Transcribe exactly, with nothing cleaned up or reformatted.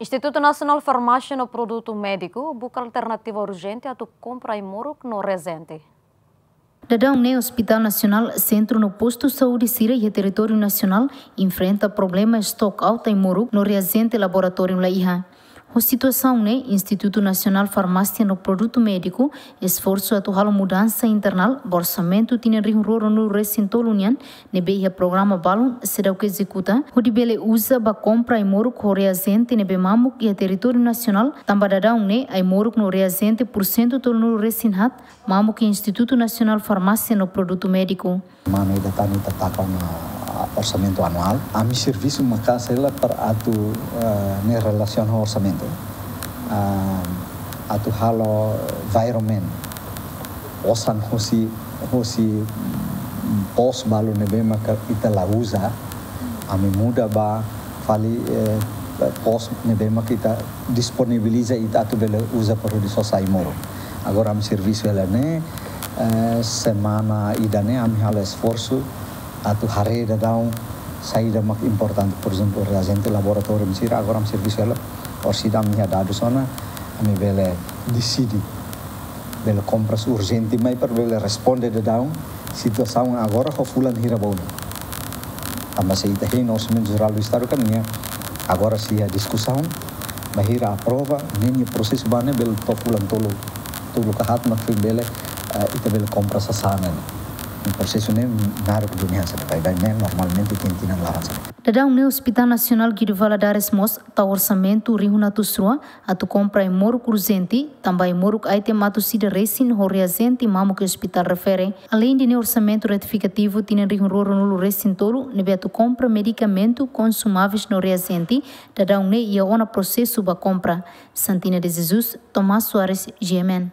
Institutu Nasionál Farmásia no Produtu Médiku buka alternativa urjente atu kompra ai-moruk no reajente. Daudaun ne'e Hospital Nasionál, sentru no postu saúde sira iha territóriu nasionál enfrenta problema stock out ai-moruk no reajente laboratóriu la iha. Ho situasaun ne'e, Institutu Nasionál Farmásia no Produtu Médiku esforsu atu halo mudansa internál ba orsamentu tinan rihun rua ruanulu resin tolu nian, ne'ebé iha programa balun seidauk ezekuta, hodi bele uza ba kompra ai-moruk ho reajente ne'ebé mamuk iha territóriu nasionál, tanba daudaun ne'e ai-moruk no reajente pursentu tolunulu resin haat mamuk iha Institutu Nasionál Farmásia no Produtu Médiku. Semana ida tan ita taka ona orsamentu anuál. Ami servisu maka'as hela para atu, eh, ne'e relasiona ho orsamentu. Ah, atu halo environment. Osan hosi, hosi pos balu ne'ebé maka ita la uza. Ami muda ba fali, eh, pos ne'ebé maka ita disponibiliza ita atu bele uza para hodi sosa ai-moruk. Agora ami servisu hela ne'e, eh, semana ida-ne'e ami halo esforsu atu haree daudaun saida mak importante, por ezemplu, reajente laboratóriu sira, agora ami servisu hela, orsida ami iha dadus ona, ami bele deside, bele kompras urjente mai para bele responde daudaun situasaun agora ho fulan hira ba oin. Tanba se ita hein orsamentu jerál do Estadu kan nia agora sei iha diskusaun, bainhira aprova, ne'e nia prosesu ba ne'e bele to'o fulan tolu, tolu ka haat mak foin bele, eh, ita bele kompra sasán ne'e. Ne'e prosesu ne'e naruk duni hanesan ne'e, baibain ne'e normalmente tinan-tinan la'o hanesan ne'e. Daudaun ne'e Hospital Nasionál Guido Valadares mós tau orsamentu rihun atus rua atu kompra ai-moruk urjente, tanba ai-moruk item atus ida resin ho reajente mamuk iha ospitál refere. Aleinde ne'e orsamentu retifikativu tinan rihun rua ruanulu resin tolu, ne'ebé atu kompra medikamentu, konsumáveis no reajente, daudaun ne'e iha ona prosesu ba kompra. Santina de Jesus, Tomás Soares, G M N.